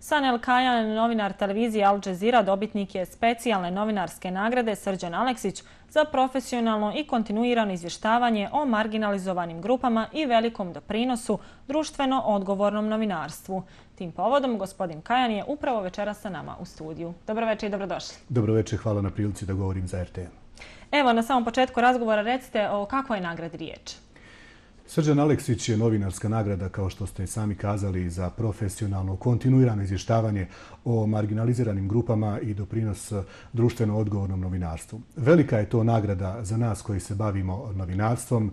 Sanel Kajan, novinar televizije Al Jazeera, dobitnik je specijalne novinarske nagrade Srđan Aleksić za profesionalno i kontinuirano izvještavanje o marginalizovanim grupama i velikom doprinosu društveno odgovornom novinarstvu. Tim povodom gospodin Kajan je upravo večeras sa nama u studiju. Dobro večer i dobrodošli. Dobro večer, hvala na prilici da govorim za RTM. Evo, na samom početku razgovora recite o kakvoj je nagradi riječ. Srđan Aleksić je novinarska nagrada, kao što ste sami kazali, za profesionalno, kontinuirano izvještavanje o marginaliziranim grupama i doprinos društveno odgovornom novinarstvu. Velika je to nagrada za nas koji se bavimo novinarstvom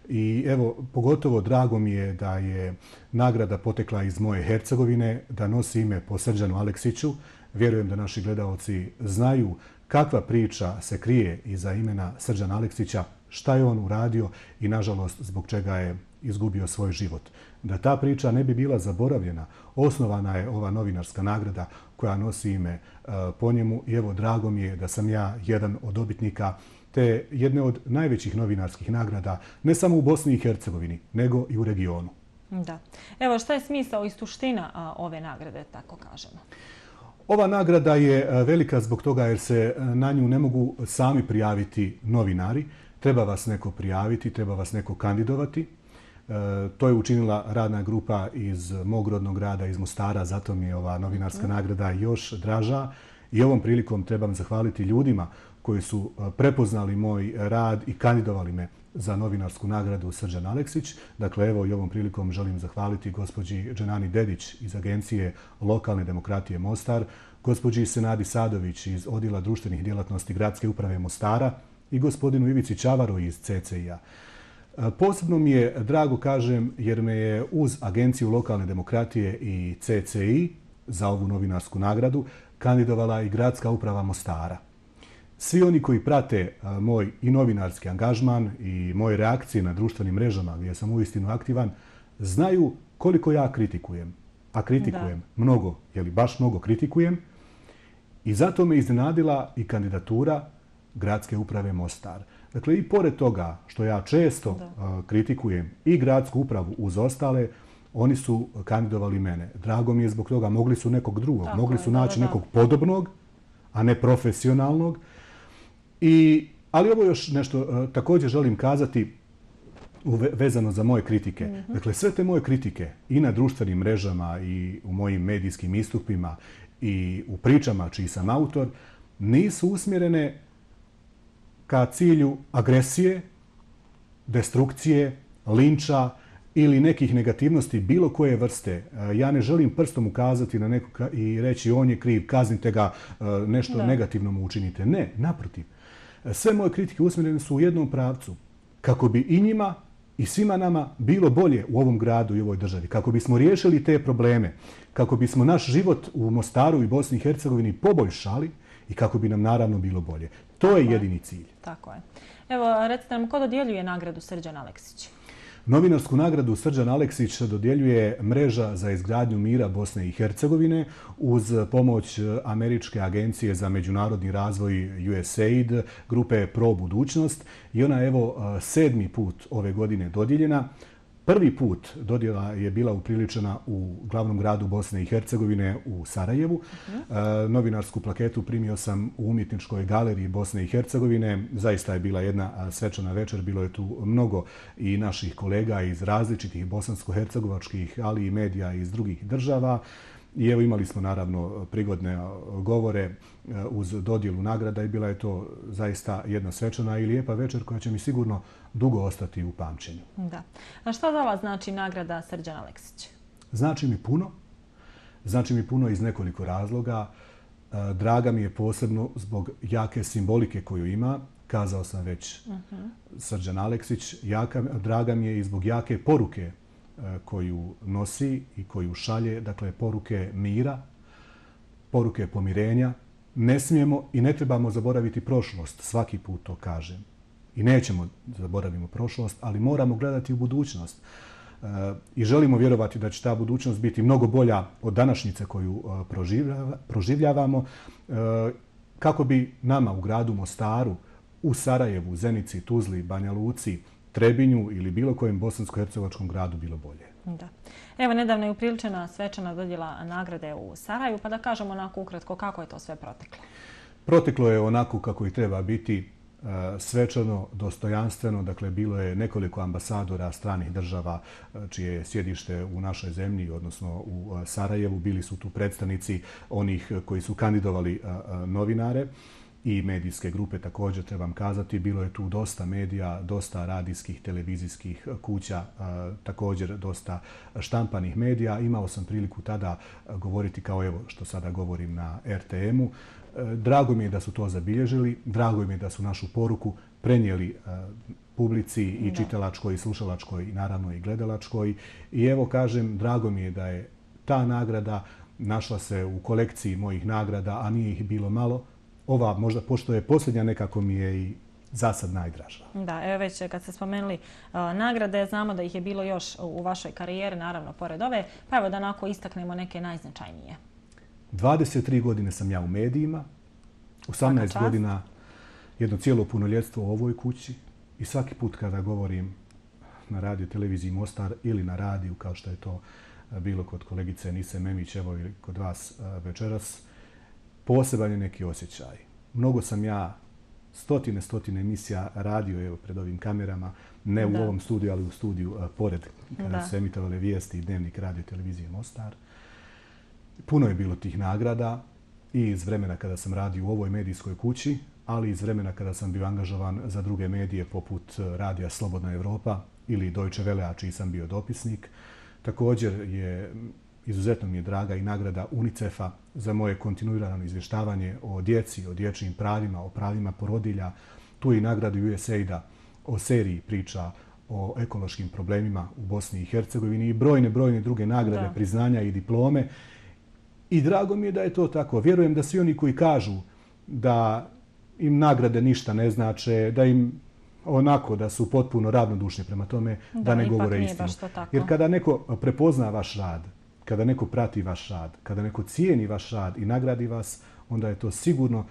i evo, pogotovo drago mi je da je nagrada potekla iz moje Hercegovine, da nosi ime po Srđanu Aleksiću. Vjerujem da naši gledaoci znaju kakva priča se krije iza imena Srđana Aleksića, šta je on uradio i, nažalost, zbog čega je izgubio svoj život. Da ta priča ne bi bila zaboravljena, osnovana je ova novinarska nagrada koja nosi ime po njemu i evo, drago mi je da sam ja jedan od dobitnika te jedne od najvećih novinarskih nagrada, ne samo u Bosni i Hercegovini, nego i u regionu. Da. Evo, šta je smisao i suština ove nagrade, tako kažemo? Ova nagrada je velika zbog toga jer se na nju ne mogu sami prijaviti novinari. Treba vas neko prijaviti, treba vas neko kandidovati. To je učinila radna grupa iz mog rodnog grada, iz Mostara, zato mi je ova novinarska nagrada još draža. I ovom prilikom trebam zahvaliti ljudima koji su prepoznali moj rad i kandidovali me za novinarsku nagradu Srđan Aleksić. Dakle, evo i ovom prilikom želim zahvaliti gospođi Dženani Dedić iz Agencije lokalne demokratije Mostar, gospođi Senadi Sadović iz Odjela društvenih djelatnosti Gradske uprave Mostara i gospodinu Ivici Čavaru iz CCI-a. Posebno mi je drago, kažem, jer me je uz Agenciju lokalne demokratije i CCI za ovu novinarsku nagradu kandidovala i Gradska uprava Mostara. Svi oni koji prate moj i novinarski angažman i moje reakcije na društvenim mrežama gdje sam uistinu aktivan, znaju koliko ja kritikujem. A kritikujem mnogo, baš mnogo kritikujem. I zato me iznenadila i kandidatura Gradske uprave Mostar. Dakle, i pored toga što ja često kritikujem i Gradsku upravu uz ostale, oni su kandidovali mene. Drago mi je zbog toga, mogli su nekog drugog, mogli su naći nekog podobnog, a ne profesionalnog. Ali ovo još nešto također želim kazati vezano za moje kritike. Dakle, sve te moje kritike i na društvenim mrežama i u mojim medijskim istupima i u pričama čiji sam autor nisu usmjerene ka cilju agresije, destrukcije, linča ili nekih negativnosti bilo koje vrste. Ja ne želim prstom ukazati na nekog i reći on je kriv, kaznite ga, nešto negativno mu učinite. Ne, naprotiv. Sve moje kritike usmjerene su u jednom pravcu. Kako bi i njima i svima nama bilo bolje u ovom gradu i ovoj državi. Kako bismo riješili te probleme. Kako bismo naš život u Mostaru i Bosni i Hercegovini poboljšali i kako bi nam naravno bilo bolje. To je jedini cilj. Tako je. Evo, recite nam, ko dodjeljuje nagradu Srđan Aleksić? Novinarsku nagradu Srđan Aleksić dodjeljuje Mreža za izgradnju mira Bosne i Hercegovine uz pomoć Američke agencije za međunarodni razvoj USAID, grupe Pro budućnost. I ona je evo 7. put ove godine dodijeljena. Prvi put dodjela je bila upriličena u glavnom gradu Bosne i Hercegovine u Sarajevu. Novinarsku plaketu primio sam u Umjetničkoj galeriji Bosne i Hercegovine. Zaista je bila jedna svečana večer. Bilo je tu mnogo i naših kolega iz različitih bosansko-hercegovačkih, ali i medija iz drugih država. I evo imali smo naravno prigodne govore uz dodjelu nagrada i bila je to zaista jedna svečana i lijepa večer koja će mi sigurno dugo ostati u pamćenju. Da. A što za vas znači nagrada Srđan Aleksić? Znači mi puno. Znači mi puno iz nekoliko razloga. Draga mi je posebno zbog jake simbolike koju ima. Kazao sam već Srđan Aleksić. Draga mi je i zbog jake poruke koju nosi i koju šalje, dakle poruke mira, poruke pomirenja. Ne smijemo i ne trebamo zaboraviti prošlost, svaki put to kažem. I nećemo zaboraviti prošlost, ali moramo gledati u budućnost. I želimo vjerovati da će ta budućnost biti mnogo bolja od današnjice koju proživljavamo, kako bi nama u gradu Mostaru, u Sarajevu, Zenici, Tuzli, Banja Luci Trebinju ili bilo kojem bosansko-hercegovačkom gradu bilo bolje. Da. Evo, nedavno je upriličena svečana dodjela nagrade u Sarajevu, pa da kažemo onako ukratko kako je to sve proteklo. Proteklo je onako kako i treba biti, svečano, dostojanstveno. Dakle, bilo je nekoliko ambasadora stranih država čije je sjedište u našoj zemlji, odnosno u Sarajevu. Bili su tu predstavnici onih koji su kandidovali novinare i medijske grupe također, trebam kazati. Bilo je tu dosta medija, dosta radijskih, televizijskih kuća, također dosta štampanih medija. Imao sam priliku tada govoriti kao evo što sada govorim na RTM-u. Drago mi je da su to zabilježili, drago mi je da su našu poruku prenijeli publici i čitalačkoj i slušalačkoj i naravno i gledalačkoj. I evo kažem, drago mi je da je ta nagrada našla se u kolekciji mojih nagrada, a nije ih bilo malo. Ova možda, pošto je posljednja, nekako mi je i za sad najdraža. Da, evo već kad ste spomenuli nagrade, znamo da ih je bilo još u vašoj karijeri, naravno pored ove, pa evo da onako istaknemo neke najznačajnije. 23 godine sam ja u medijima, 18 godina jedno cijelo punoljetstvo u ovoj kući i svaki put kada govorim na radio televiziji Mostar ili na radiju, kao što je to bilo kod kolegice Nise Memić, evo ili kod vas večeras, poseban je neki osjećaj. Mnogo sam ja stotine emisija radio evo pred ovim kamerama, ne u ovom studiju, ali u studiju pored, kada su emitovale vijesti i dnevnik radio televizije Mostar. Puno je bilo tih nagrada i iz vremena kada sam radio u ovoj medijskoj kući, ali iz vremena kada sam bio angažovan za druge medije poput radija Slobodna Evropa ili Deutsche Welle, a čiji sam bio dopisnik. Također je izuzetno mi je draga i nagrada UNICEF-a za moje kontinuirano izvještavanje o djeci, o dječjim pravima, o pravima porodilja. Tu je i nagrada USAID-a o seriji priča o ekološkim problemima u Bosni i Hercegovini i brojne druge nagrade, priznanja i diplome. I drago mi je da je to tako. Vjerujem da svi oni koji kažu da im nagrade ništa ne znače, da im onako da su potpuno ravnodušni prema tome, da ne govore istinu. Jer kada neko prepozna vaš rad, kada neko prati vaš rad, kada neko cijeni vaš rad i nagradi vas, onda je to sigurno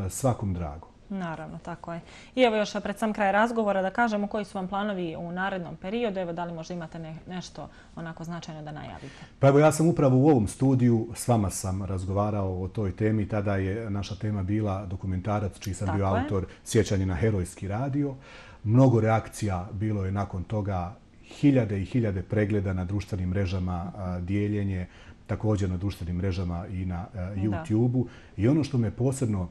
svakom drago. Naravno, tako je. I evo još pred sam kraj razgovora da kažemo koji su vam planovi u narednom periodu. Evo, da li možda imate nešto onako značajno da najavite? Pa evo, ja sam upravo u ovom studiju, s vama sam razgovarao o toj temi. Tada je naša tema bila dokumentarac čiji sam bio autor, Sjećanje na herojski radio. Mnogo reakcija bilo je nakon toga, hiljade i hiljade pregleda na društvenim mrežama, dijeljenje, također na društvenim mrežama i na YouTube-u. I ono što me posebno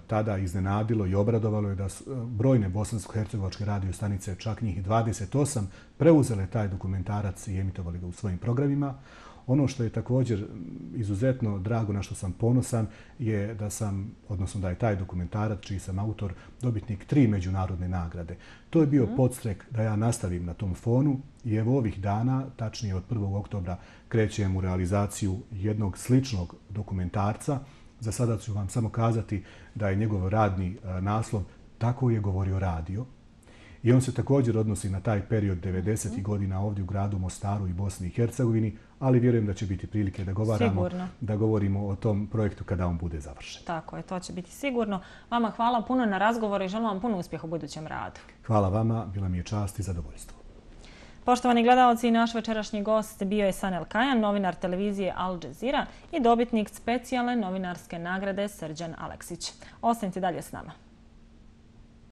tada iznenadilo i obradovalo je da su brojne bosansko-hercegovačke radio stanice, čak njih 28, preuzele taj dokumentarac i emitovali ga u svojim programima. Ono što je također izuzetno drago, na što sam ponosan, je da sam, odnosno da je taj dokumentarac, čiji sam autor, dobitnik 3 međunarodne nagrade. To je bio podstrek da ja nastavim na tom fonu i evo ovih dana, tačnije od 1. oktobra, krećem u realizaciju jednog sličnog dokumentarca. Za sada ću vam samo kazati da je njegov radni naslov Tako je govorio radio. I on se također odnosi na taj period 90. godina ovdje u gradu Mostaru i Bosni i Hercegovini, ali vjerujem da će biti prilike da govorimo o tom projektu kada on bude završen. Tako je, to će biti sigurno. Vama hvala puno na razgovoru i želim vam puno uspjeha u budućem radu. Hvala vama, bila mi je čast i zadovoljstvo. Poštovani gledalci, naš večerašnji gost bio je Sanel Kajan, novinar televizije Al Jazeera i dobitnik specijalne novinarske nagrade Srđan Aleksić. Ostanite dalje s nama.